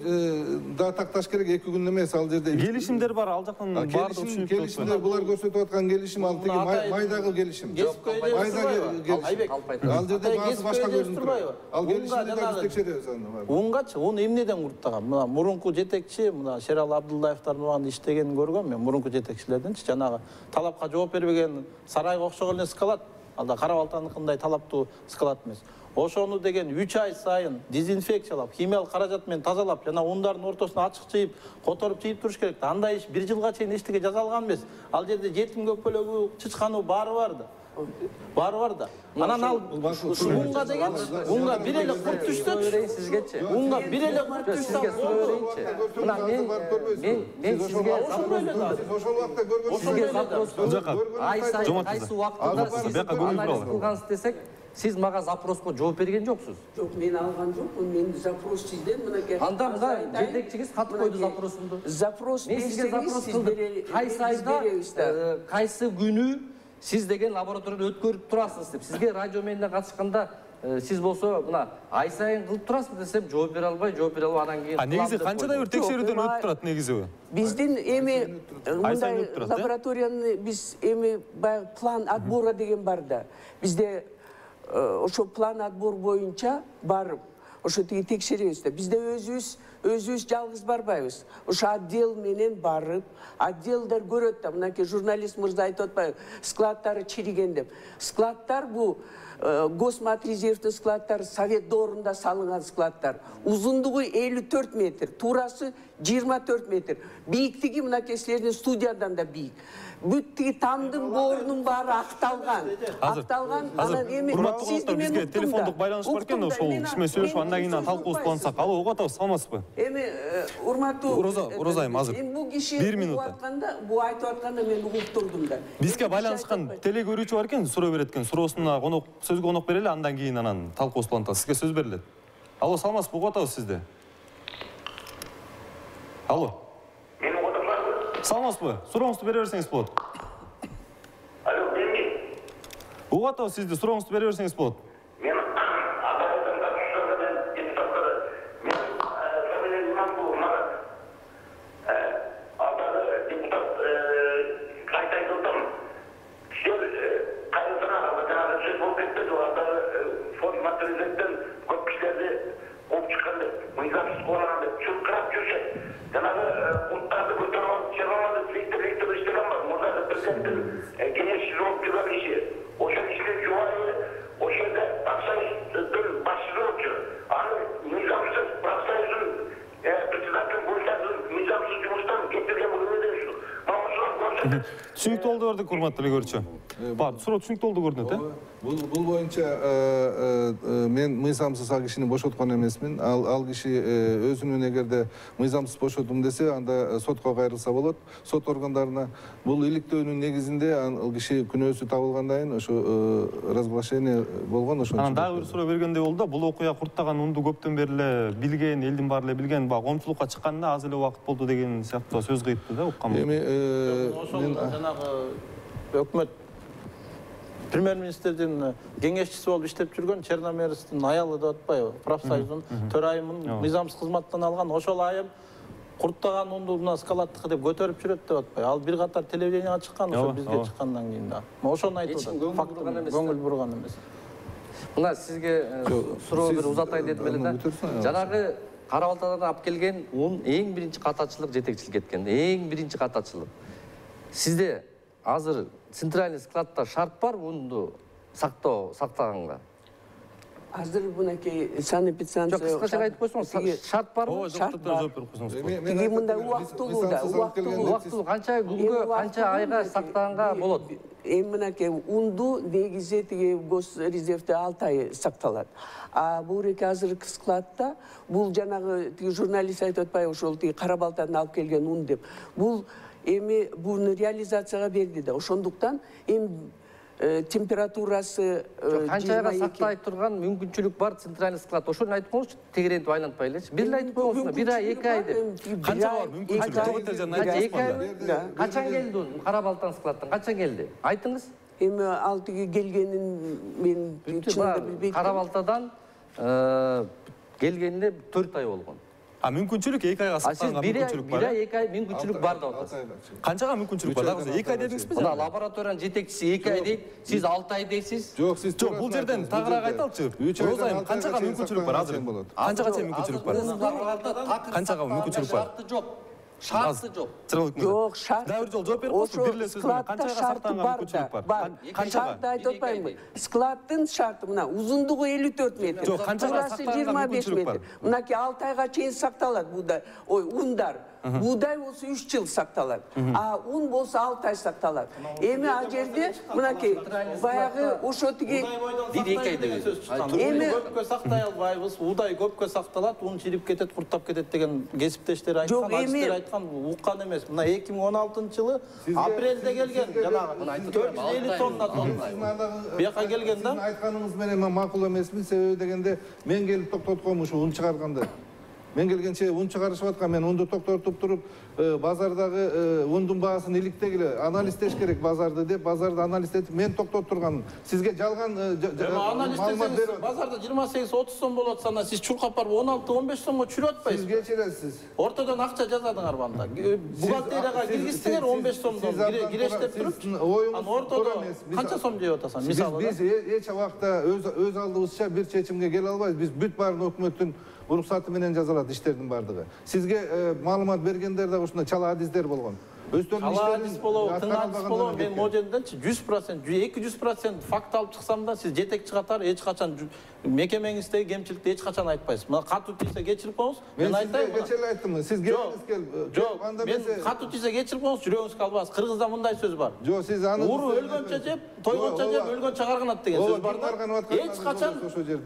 да такташ керек, эки күн эмес ал жерде. Келишимдер бар, ал жактан баардыгы түшүнүп турат. Келишимдер булар көрсөтүп аткан келишим ал тиги майдагы келишим. Майдагы келишим. Ал жерде баасы башка көрүнүп турат. Ал келишимди да биз текшеребиз аны. Унгачы, уну эмнеден курттаган? Мына мурунку жетекчи, мына Шерал Абдуллаевдин убагында иштегенин көргөм мен, мурунку жетекчилердинчи, жанагы талапка жооп бербеген сарайга окшогон эле скалат. Алда Кара Балтаныкындай талаптуу скалат эмес. Ошону деген үч ай сайын дезинфекциялап, химиялык каражат менен тазалап, жана ундардын ортосуна ачык чыйып, которуп чыйып туруш керек. Андай иш бир жылга чейин эчтеке жасалган эмес. Ал жерде жетим көкпөлөгү, чычканы баары бар да. Баары бар да. Анан ал унга деген, унга бир эле курт түшсө, сизгечи. Унга бир эле курт түшсө, сизге суроо берейинчи. Мына мен мен мен сизге ошол убакта көргөнсүз. Сизге запрос ай сайын кайсы убактында сиз анализ кылгансыз десек, сиз мага запроско жооп берген жоксуз. Жок, мен алган жокмун. Мен запрос сизден мынакей. Анда мына жетекчиңиз кат койду запросумду. Запрос мен сизге запрос кылдым. Кайсы айда, кайсы күнү сиз деген лабораторияда өткөрүп турасыз деп. Сизге радио менен катышканда сиз болсо мына ай сайын кылып турасыз десем, жооп бере албай, жооп бере алып анан кийин. А негизи канчадай бир текшерүүдөн өтүп турат негизи? Биздин эми мындай лабораторияны биз эми баягы план отбора деген бар да. Бизде ошо план отбор боюнча барып, ошо тиги текшеребиз да. Бизде өзүбүз өзүбүз жалгыз барбайбыз. Ошо отдел менен барып, отделдер көрөт да. Мынакей журналист мырза айтып атпайбы, складдары чириген деп. Складдар бул Госматрезервдин складдары Совет доорунда салынган складдар. Узундугу элүү төрт метр, туурасы жыйырма төрт метр. Бийиктиги мынакей силердин студиядан да бийик. Бүт тиги тамдын боорунун баары акталган. Акталган, анан эми сизди мен бизге телефондук байланыш бар экен, ошол киши менен сүйлөшүп андан кийин талкуубузду улантсак. Алло, угуп атабыз, саламатсызбы? Эми урматтуу Роза айым, азыр. Эми бул киши бир минут атканда, бул айтып атканда мен угуп турдум да. Бизге байланышкан теле көрүүчү бар экен, суроо берет экен. Суроосуна конок, сөзгө конок берели, андан кийин анан талкуубузду улантабыз. Сизге сөз берилет. Алло, саламатсызбы? Угуп атабыз сизди. Алло. Мен угуп атам. Саламатсызбы? Сурооңузду бере берсеңиз болот. Алло, эмне? Угуп атабыз сизди, сурооңузду бере берсеңиз болот. Мен адалеттен катышканда мен депутаттар мен Сабелен Иманкулов Марат. Алдагы депутат кайта айтылдым. Силер кайдасына жанагы сөз болуп кетти деп алдагы фонд материалден көп кишилерди кууп чыккан деп, мыйзамсыз куулаган деп чуркырап жүрүшөт. Жанагы курттарды көтөрүп алып чыгарганды Виктор Викторович деген бар, мурдагы президенттин кеңешчиси болуп жүргөн киши. Ошол кишилер жубайы ошол жерде Аксайдын башчысы болчу. Аны мыйзамсыз Аксайдын председатель боюнчасы мыйзамсыз жумуштан кетирген бул эмне дейсиз? Мага ошол көрсөтүп. Түшүнүктүү болду көрдүк, урматтуу телекөрүүчү. Бар, суроо түшүнүктүү болду көрүнөт, э? Бул бул боюнча мен мыйзамсыз ал кишини бошоткон эмесмин. Ал ал киши өзүнүн эгерде мыйзамсыз бошотум десе, анда сотко кайрылса болот. Сот органдарына бул иликтөөнүн негизинде ал киши күнөөсү табылгандан кийин ошо разглашение болгон, ошо. Анан дагы бир суроо бергендей болду да, бул окуя курттаган унду көптөн бери эле билген, элдин баары эле билген, баягы коомчулукка чыкканда аз эле убакыт болду деген сыяктуу сөз кыйыпты да, уккам. Эми ошол жанагы өкмөт премьер-министрдин кеңешчиси болуп иштеп жүргөн Черномерстин аялы деп атпайбы? Профсоюздун төрайымын мыйзамсыз кызматтан алган. Ошол айым курттаган унду мына скалаттыкы деп көтөрүп жүрөт деп атпайбы? Ал бир катар телевиденияга чыккан, ошо бизге чыккандан кийин да. Ошону айтып атат. Факт көңүл бурган эмес. Мына сизге суроо бир узатайын дедим эле да. Жанагы Кара Балтадан алып келген ун эң биринчи катачылык жетекчилик эткен. Эң биринчи катачылык. Сизде азыр центральный складта шарт бар унду сактоо, сактаганга? Азыр мынакей санэпидстанция. Жок, кыскача айтып койсоңуз, шарт барбы? Шарт бар. Жооп берип койсоңуз. Тиги мындай убактылуу да, убактылуу. Убактылуу канча күнгө, канча айга сактаганга болот? Эми мынакей унду негизи тиги Госрезервде алты ай сакталат. А буреки азыркы складта бул жанагы тиги журналист айтып атпайбы, ошол тиги Кара Балтадан алып келген ун деп. Бул эми буну реализацияга берди да. Ошондуктан эми температурасы канча айга сактай турган мүмкүнчүлүк бар центральный склад, ошону айтып коюңузчу, тегерентип айлантпай элечи. Бир эле айтып коюңуз, бир ай, эки ай деп. Канча бар мүмкүнчүлүк? Качан келди у Кара Балтан складдан? Качан келди? Айтыңыз. Эми ал тиги келгенин мен чынында билбейм. Кара Балтадан келгенине төрт ай болгон. А мүмкүнчүлүк эки айга сакталган мүмкүнчүлүк бар. бир ай, эки ай мүмкүнчүлүк бар деп атасыз. Канчага мүмкүнчүлүк бар? Дагы эки ай дедиңизби? Мына лабораториянын жетекчиси эки ай дейт, сиз алты ай дейсиз. Жок, сиз жок, бул жерден тагыраак айталычы. Розайым, канчага мүмкүнчүлүк бар азыр? Канчага чейин мүмкүнчүлүк бар? Канчага мүмкүнчүлүк бар? Шарты жок. Шарты жок. Жок, шарт. Дагы бир жолу жооп берип коюңузчу, бир эле сөз менен. Канчага сакталган мүмкүнчүлүк бар? Шартты айтып атпаймынбы? Складдын шарты мына узундугу элүү төрт метр. Жок, канчага Турасы жыйырма беш метр. Мынакей алты айга чейин сакталат буудай. Ой, ундар. Буудай болсо үч жыл сакталат. А ун болсо алты ай сакталат. Эми ал жерде мынакей баягы ошо тиги бир эки ай деген сөз чыккан. Эми көпкө сактай албайбыз, уудай көпкө сакталат, ун чирип кетет, курттап кетет деген кесиптештер айткан, адистер айткан, уккан эмес. Мына эки миң он алтынчы жылы апрелде келген жанагы төрт жүз элүү тонна тонна. Бияка келген да. Сиздин айтканыңыз менен мен макул эмесмин, себеби дегенде мен келип токтотком ушу ун чыгарганда. Мен келгенче ун чыгарышып аткан, мен унду токтотуп туруп, базардагы ундун баасын иликтегиле анализдеш керек базарды деп, базарды анализдетип мен токтотуп турган. Сизге жалган маалымат берип, базарда жыйырма сегиз отуз сом болуп атса, сиз чуркап барып он алты он беш сомго чүрүп атпайсызбы? Сиз кечиресиз. Ортодон акча жазадыңар банда. Бухгалтерияга киргиздиңер он беш сомдон кирештеп туруп, анан ортодо канча сом жеп атасың? Мисалы биз эч убакта өз алдыбызча бир чечимге келе албайбыз. Биз бүт баарын өкмөттүн уруксаты менен жазылат иштердин бардыгы. Сизге маалымат бергендер да ушундай чала адистер болгон. Өздөрүнүн иштерин болобу, тың адис болобу, мен могу жерденчи жүз процент, эки жүз процент факт алып чыксам да, сиз жетекчи катары эч качан мекемеңиздеги кемчиликти эч качан айтпайсыз. Мына катуу тийсе кечирип коюңуз. Мен айтайын. Мен кече айттым. Сиз келиңиз кел. Жок, мен катуу тийсе кечирип коюңуз, жүрөгүңүз калбасын. Кыргызда мындай сөз бар. Жок, сиз аны уру өлгөнчө жеп, тойгончо жеп, өлгөнчө карганат деген сөз бар да. Эч качан,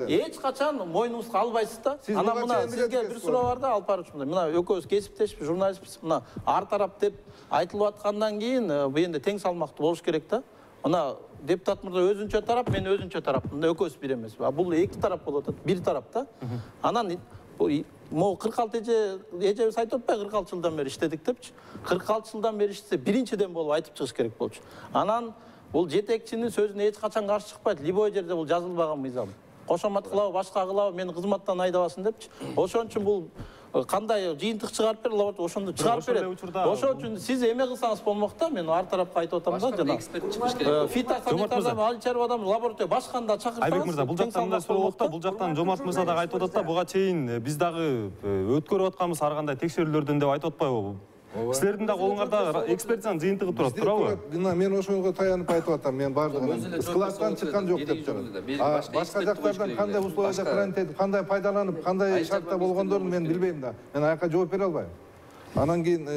эч качан мойнуңузга албайсыз да. Анан мына сизге бир суроо бар да, алып барып ушундай. Мына экөөбүз кесиптешпи, журналистпиз. Мына ар тарап деп айтылып аткандан кийин бу энди тең салмактуу болуш керек да. Мына депутат мырза өзүнчө тарап, мен өзүнчө тарап. Мында экөөбүз бир эмеспи. А бул эки тарап болуп атат, бир тарап да. Анан могу кырк алты эже эжебиз айтып атпайбы, кырк алты жылдан бери иштедик депчи. кырк алты жылдан бери иштесе биринчиден болуп айтып чыгыш керек болчу. Анан бул жетекчинин сөзүнө эч качан каршы чыкпайт. Любой жерде бул жазылбаган мыйзам. Кошомат кылабы, башка кылабы, мени кызматтан айдабасын депчи. Ошон үчүн бул кандай жыйынтык чыгарып бер, лаборатория ошондо чыгарып берет. Ошон үчүн сиз эме кылсаңыз болмок да, мен ар тарапка айтып атам да, жана эксперт чыгыш керек. Фитосанитардан али чарбадан лаборатория башканда чакырсаңыз. Айбек мырза, бул жактан мындай суроо болот да, бул жактан Жомарт мырза дагы айтып атат да, буга чейин биз дагы өткөрүп атканбыз ар кандай текшерүүлөрдөн деп айтып атпайбы? Силердин да колуңарда экспертизанын жыйынтыгы турат, туурабы? Мен ошого таянып айтып атам, мен бардыгын складдан чыккан жок деп турат. Башка жактардан кандай условияда карантин этип, кандай пайдаланып, кандай шартта болгондорун мен билбейм да. Мен аяка жооп бере албайм. Анан кийин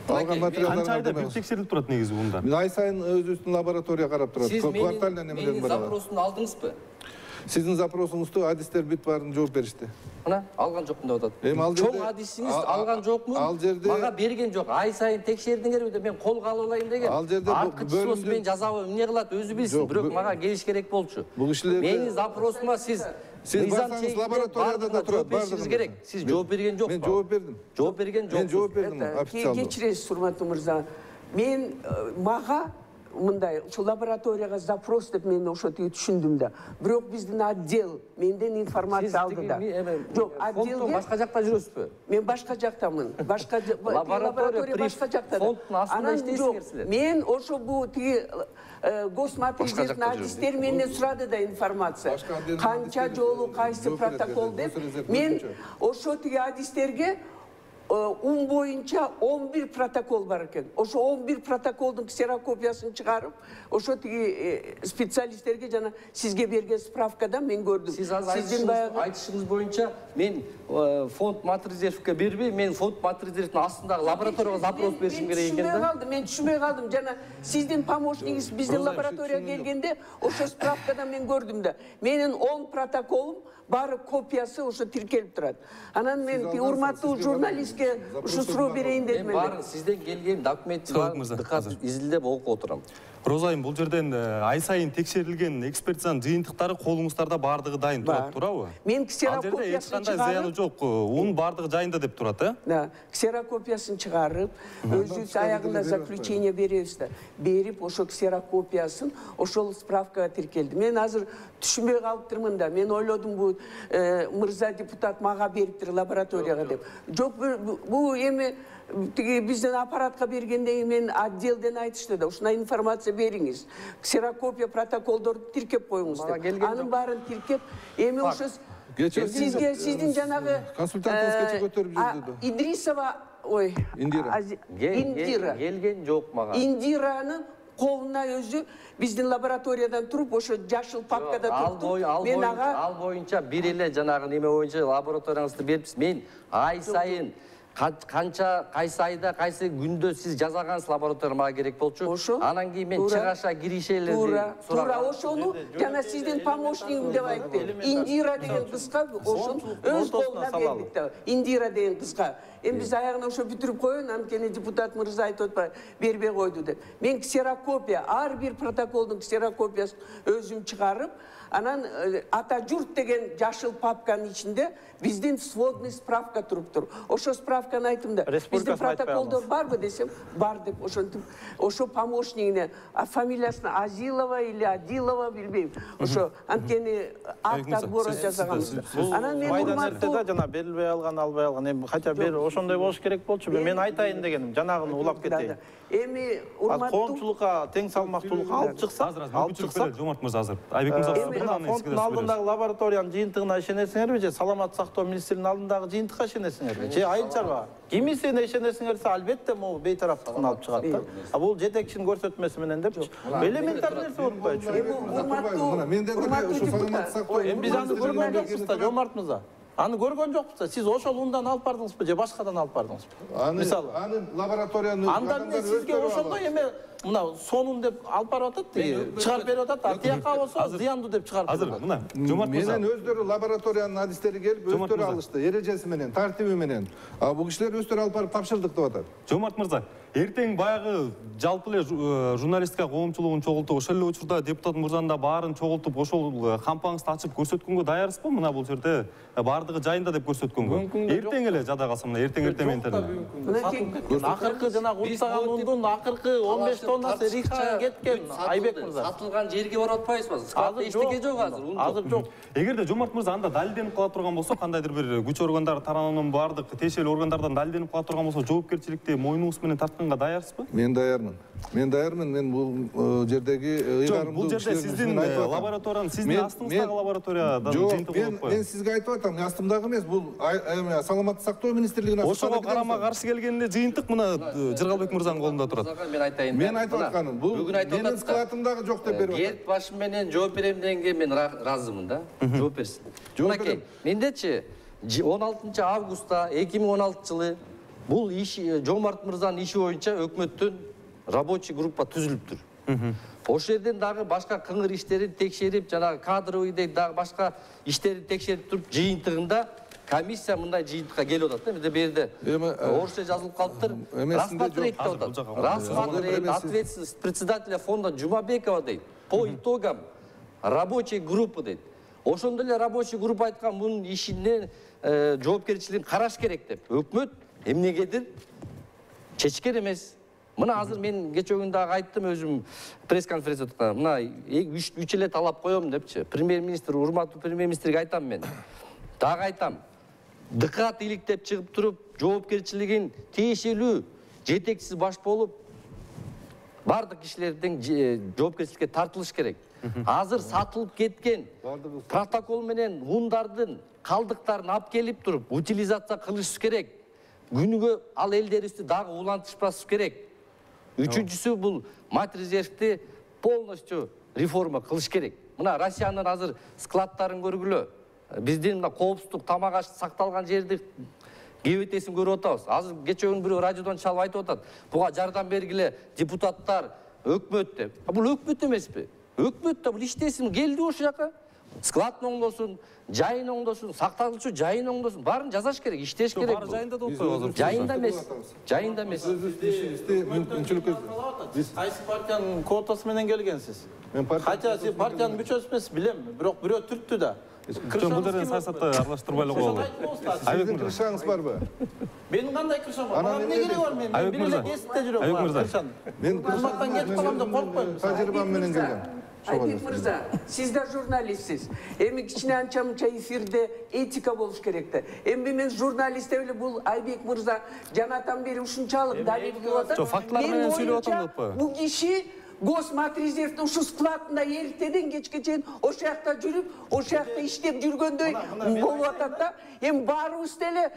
алган материалдар канча айда бир текшерилип турат негизи мында? Мен ай сайын өзүбүздүн лаборатория карап турат. Квартальный немелер бар. Сиз запросун алдыңызбы? Сиздин запросуңузду адистер бүт баарын жооп беришти. Мына алган жокмун деп атат. Эми ал жерде чоң адисиңиз алган жокмун? Ал жерде мага берген жок. Ай сайын текшердиңерби деп мен колго алып алайын деген. Ал жерде бөлүмдө мен жазабы эмне кылат өзү билсин, бирок мага келиш керек болчу. Бул кишилерде менин запросума сиз Сиз барсаңыз лабораторияда да турат, бардыгы керек. Сиз жооп берген жокпу? Мен жооп бердим. Жооп берген жок. Мен жооп бердим официалдуу. Кечиресиз, урматтуу мырза. Мен мага мындай ушу лабораторияга запрос деп мен ошо тиги түшүндүм да. Бирок биздин отдел менден информация алды да. Жок, отделге башка жакта жүрөсүзбү? Мен башка жактамын. Башка лаборатория башка жакта. Фонддун астында иштейсиңер силер. Мен ошо бу тиги госмат адистер менен сурады да информация. Канча жолу кайсы протокол деп. Мен ошо тиги адистерге ун боюнча он бир протокол бар экен. Ошо он бир протоколдун ксерокопиясын чыгарып, ошо тиги специалисттерге жана сизге берген справкада мен көрдүм. Сиз азыр айтышыңыз боюнча мен фонд матрезервке бербей, мен фонд матрезервдин астындагы лабораторияга запрос беришим керек экен да. Мен түшүнбөй калдым, мен түшүнбөй калдым. Жана сиздин помощниңиз биздин лабораторияга келгенде ошо справкада мен көрдүм да. Менин он протоколум бары копиясы ошо тиркелип турат. Анан мен урматтуу журналист сизге ушу суроо берейин Мен дедим эле. баарын сизден келген документти баарын дыкат изилдеп окуп отурам. Розайым, бул жерден ай сайын текшерилген экспертизанын жыйынтыктары колуңуздарда баардыгы дайын турат, туурабы? Мен Ал жерде ксерокопиясын эч кандай зыяны чыгарып, жок, унун баардыгы жайында деп турат, э? да, ксерокопиясын чыгарып, өзүбүз аягында заключение беребиз да. Берип, ошо ксерокопиясын ошол справкага тиркелди. Мен азыр түшүнбөй калыптырмын да. Мен ойлодум бул мырза депутат мага бериптир лабораторияга деп. Жок, бул эми тиги бизден аппаратка бергенден кийин мен отделден айтышты да, ушундай информация бериңиз. Ксерокопия протоколдорду тиркеп коюңуз деп. Анын баарын тиркеп, эми ошо сизге сиздин жанагы консультантыңыз көтөрүп жүрдү. Идрисова, ой, Индира. Индира. Келген жок мага. Индиранын колуна өзү биздин лабораториядан туруп, ошо жашыл папкада туруп, мен ага ал боюнча бир эле жанагы неме боюнча лабораторияңызды берипсиз. Мен ай сайын канча кайсы айда кайсы күндө сиз жазагансыз лаборатория мага керек болчу. Анан кийин мен чыгаша киришелерди туура туура ошону жана сиздин помощнигим деп айтты. Индира деген кызга ошон өз колуна бердик да. Индира деген кызга. Эми биз аягына ошо бүтүрүп коеюн, анткени депутат мырза айтып атпайбы, бербей койду деп. Мен ксерокопия, ар бир протоколдун ксерокопиясын өзүм чыгарып, анан ата журт деген жашыл папканын ичинде биздин сводный справка туруптур. Ошо справканы айттым да. Биздин протоколдор барбы десем, бар деп ошентип, ошо помощнигине, а фамилиясын Азилова или Адилова билбейм. Ошо анткени акт отбора жасаганбыз. Анан мен урматтуу да жана берилбей алган, албай алган. Эми хотя бир ошондой болуш керек болчу. Мен айтайын дегеним, жанагыны улап кетейин. Эми урматтуу коомчулукка тең салмактуулук алып чыкса, алып чыкса, Жомарт мырза азыр. Айбек мырза, фонддун алдындагы лабораториянын жыйынтыгына ишенесиңерби же саламаттык сактоо министринин алдындагы жыйынтыкка ишенесиңерби? Же айыл чарба? Кимисине ишенесиңерсе, албетте могу бейтараптыкын алып чыгат да. А бул жетекчинин көрсөтмөсү менен депчи. Элементарный нерсе болуп коечу. Урматтуу, ушу саламаттык сактоо. Эми биз аны көргөн жокпуз да, Жомарт мырза. Аны көргөн жокпуз да. Сиз ошол ундан алып бардыңызбы же башкадан алып бардыңызбы? Мисалы, анын лабораторияны анда эмне сизге ошондой эме мына сонун деп алып барып атат, чыгарып берип атат, а тияка болсо зыяндуу деп чыгарып берип азыр мына Жомарт мырза менен өздөрү лабораториянын адистери келип өздөрү алышты, эрежеси менен, тартиби менен. А бул кишилер өздөрү алып барып тапшырдык деп атат. Жомарт мырза, эртең баягы жалпы эле журналистика коомчулугун чогултуп, ошол эле учурда депутат мырзанын да баарын чогултуп, ошол кампаңызды ачып көрсөткөнгө даярсызбы? Мына бул жерде баардыгы жайында деп көрсөткөнгө. Эртең эле жада калса, мына эртең эртең менен. Акыркы жанагы уттаган ундун акыркы он беш тоннасы Рихага кеткен, Айбек мырза. Сатылган жерге барып атпайсызбы? Складда эчтеке жок азыр. Азыр жок. Эгерде Жомарт мырза анда далилденип кала турган болсо, кандайдыр бир күч органдары тараптарынан баардык тиешелүү органдардан далилденип кала турган болсо, жоопкерчиликти мойнуңуз менен тартканга даярсызбы? Мен даярмын. Мен даярмын. Мен бул жердеги ыйгарымдуу. Бул жерде сиздин лабораториянын, сиздин астыңыздагы лабораториядан жыйынтык болуп коет. Мен сизге айтып атам, астымдагы эмес, бул саламаттык сактоо министрлигинин ошого карама каршы келгенде жыйынтык мына Жыргалбек мырзанын колунда турат. Мен айтайын. Мен айтып атканым, бул менин складымдагы жок деп берип атат. Герт башы менен жооп берем дегенге мен ыраазымын да. Жооп берсин. Мынакей, мендечи он алтынчы августта эки миң он алтынчы жылы бул иш Жомарт мырзанын иши боюнча өкмөттүн рабочий группа түзүлүптүр. Ошол жерден дагы башка кыңыр иштерин текшерип, жанагы кадровыйдей дагы башка иштерди текшерип туруп, жыйынтыгында комиссия мындай жыйынтыкка келип атат да. Бизде бу жерде орусча жазылып калыптыр. Рассмотреть деп атат. Рассмотреть ответственность председателя фонда Жумабекова дейт. По итогам рабочей группы дейт. Ошондо эле рабочий группа айткан мунун ишинен жоопкерчилигин караш керек деп. Өкмөт эмнегедир чечкен эмес. Мына азыр мен кечээ күнү дагы айттым, өзүм пресс-конференцияда. Мына үч эле талап коем депчи. Премьер-министр, урматтуу премьер-министрге айтам мен. Дагы айтам. Дыкат иликтеп чыгып туруп, жоопкерчилигин тиешелүү жетекчиси баш болуп, бардык кишилердин жоопкерчиликке тартылыш керек. Азыр сатылып кеткен протокол менен ундардын калдыктарын алып келип туруп, утилизация кылыш керек. Күнүгө ал элдерибизди дагы улантышпас керек. Үчүнчүсү бул мать резервди полностью реформа кылыш керек. Мына Россиянын азыр складдарын көргүлө. Биздин мына коопсуздук тамак аш сакталган жерди кебетесин көрүп атабыз. Азыр кечээ күнү бирөө радиодон чалып айтып атат. Буга жардам бергиле депутаттар, өкмөт деп. Бул өкмөт эмеспи? Өкмөт да бул иштесин келди ошол жака. складын оңдосун, жайын оңдосун, сакталуучу жайын оңдосун, баарын жасаш керек, иштеш керек. Баары жайында да отпойбу азыр. Жайында эмес. Жайында эмес. Өзүбүздүн мүмкүнчүлүк Биз кайсы партиянын квотасы менен келгенсиз? Мен партия Кача сиз партиянын мүчөсү эмессиз, билем, бирок бирөө түрттү да. Бул жерден саясатты аралаштырбай эле коелу. Сиздин кыршаңыз барбы? Менин кандай кыршам бар? Мага эмне кереги бар мен? Мен бир эле кесипте жүрөм. Айбек мырза. Мен кызматтан кетип калам деп коркпойм. тажрыйбам менен келгем. Айбек мырза, сиз да журналистсиз. Эми кичине анча мынча эфирде этика болуш керек да. Эми мен журналист эле бул Айбек мырза жанатан бери ушунчалык далил кылып атат. Жок, фактылар менен сүйлөп атам деп коё. Бул киши Госматрезервдин ушу складында эртеден кечке чейин ошол жакта жүрүп, ошол жакта иштеп жүргөндөй болуп атат да. Эми баарыбыз деле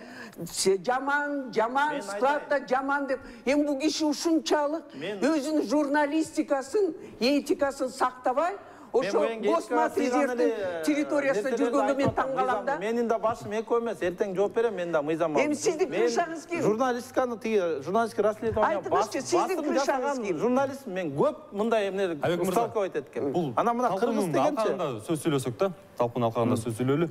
жаман, жаман, складда жаман деп. Эми бул киши ушунчалык өзүнүн журналистикасын, этикасын сактабай, ошо Госматрезервдин территориясында жүргөнгө мен таң калам да. Менин да башым эки эмес, эртең жооп берем мен да мыйзам. Эми сиздин кыршаңыз ким? Журналистиканы тиги журналистик расследование айтыңызчы, сиздин кыршаңыз ким? Журналист мен көп мындай эмне сталкивать эткем. Бул Ана мына кыргыз дегенчи. Сөз сүйлөсөк да, талкуун алкагында сөз сүйлөйлү.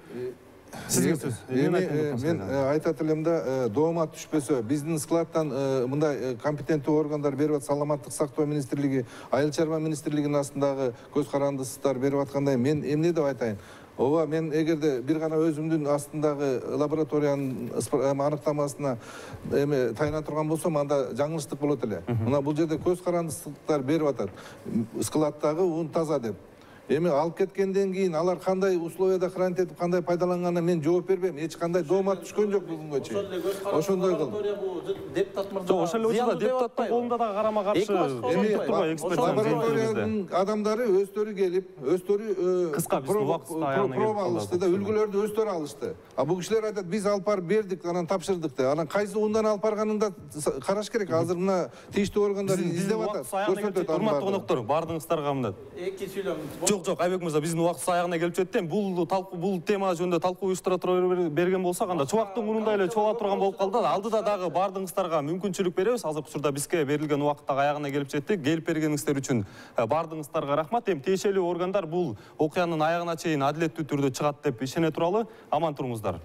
Сизге сөз. Эми мен айтат элем да, доомат түшпөсө, биздин складтан мындай компетенттүү органдар берип атат, саламаттык сактоо министрлиги, айыл чарба министрлигинин астындагы көз карандысыздар берип аткандай, мен эмне деп айтайын? Ооба, мен эгерде бир гана өзүмдүн астындагы лабораториянын аныктамасына эме тайына турган болсом, анда жаңылыштык болот эле. Мына бул жерде көз карандысыздыктар берип атат. Складдагы ун таза деп. Эми алып кеткенден кийин алар кандай условияда хранить этип, кандай пайдаланганына мен жооп бербейм. Эч кандай доомат түшкөн жок бүгүнгө чейин. Ошондой кыл. Депутат мырза. Жок, ошол эле учурда депутаттын колунда да карама каршы турбайбы эксперт адамдары өздөрү келип, өздөрү кыска биз убактысы аягына келип проба алышты да, үлгүлөрдү өздөрү алышты. А бул кишилер айтат, биз алып барып бердик, анан тапшырдык деп. Анан кайсы ундан алып барганын да караш керек. Азыр мына тийиштүү органдар издеп атат. Көрсөтөт. Урматтуу коноктор, баардыгыңыздарга мындай. Эки сүйлөм. Жок, жок, Айбек мырза, биздин убактыбыз аягына келип жетти. Бул талкуу, бул тема жөнүндө талкуу уюштура тура берген болсок, анда чубактын мурундай эле чогула турган болуп калды. Алдыда дагы баардыгыңыздарга мүмкүнчүлүк беребиз. Азыркы учурда бизге берилген убакыт дагы аягына келип жетти. Келип бергениңиздер үчүн баардыгыңыздарга рахмат. Эми тиешелүү органдар бул окуянын аягына чейин адилеттүү түрдө чыгат деп ишене туралы. Аман туруңуздар.